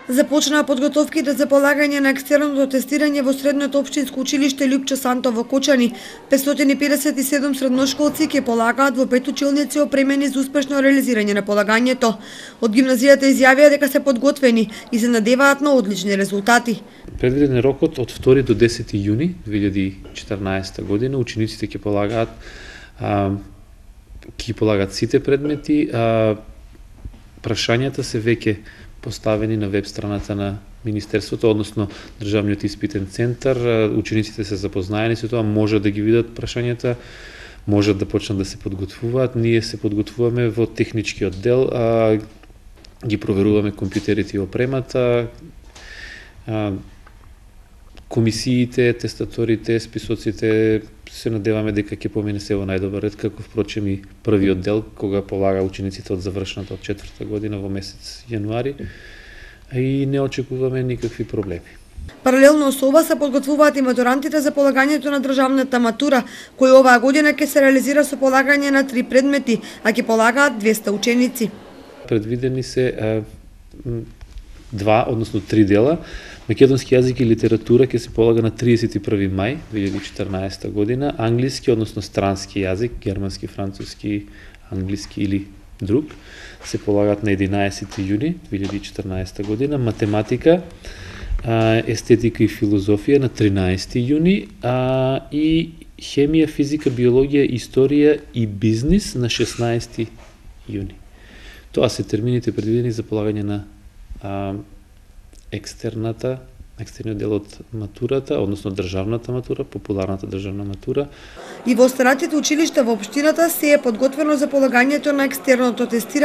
Започнаа подготовките за полагање на екстерното тестирање во средното општинско училиште Лјупчо Санто во Кочани. 557 средношколци ќе полагаат во 5 училници опремени за успешно реализирање на полагањето. Од гимназијата изјавија дека се подготвени и се надеваат на одлични резултати. Предвиден е рокот од 2 до 10 јуни 2014 година. Учениците ќе полагаат сите предмети. Прашањата се веќе поставени на веб страната на Министерството, односно Државниот испитен центар. Учениците се запознаени со тоа, може да ги видат прашањата, можат да почнат да се подготвуваат. Ние се подготвуваме во техничкиот дел, ги проверуваме компјутерите и опремата, комисиите, тестаторите, списоците, се надеваме дека ќе помине се во најдобар ред, како впрочем и првиот дел, кога полага учениците од завршната од 4-та година во месец јануари, и не очекуваме никакви проблеми. Паралелно со ова се подготвуваат и матурантите за полагањето на државната матура, кој оваа година ќе се реализира со полагање на 3 предмети, а ќе полагаат 200 ученици. Предвидени се 2, односно 3 дела. Македонски јазик и литература ќе се полага на 31 мај 2014 година, англиски, односно странски јазик, германски, француски, англиски или друг, се полагаат на 11 јуни 2014 година, математика, естетика и филозофија на 13 јуни, и хемија, физика, биологија, историја и бизнис на 16 јуни. Тоа се термините предвидени за полагање на екстерниот дел од матурата, односно државната матура, популарната државна матура. И во останатите училишта во општината се е подготвено за полагањето на екстерното тестирање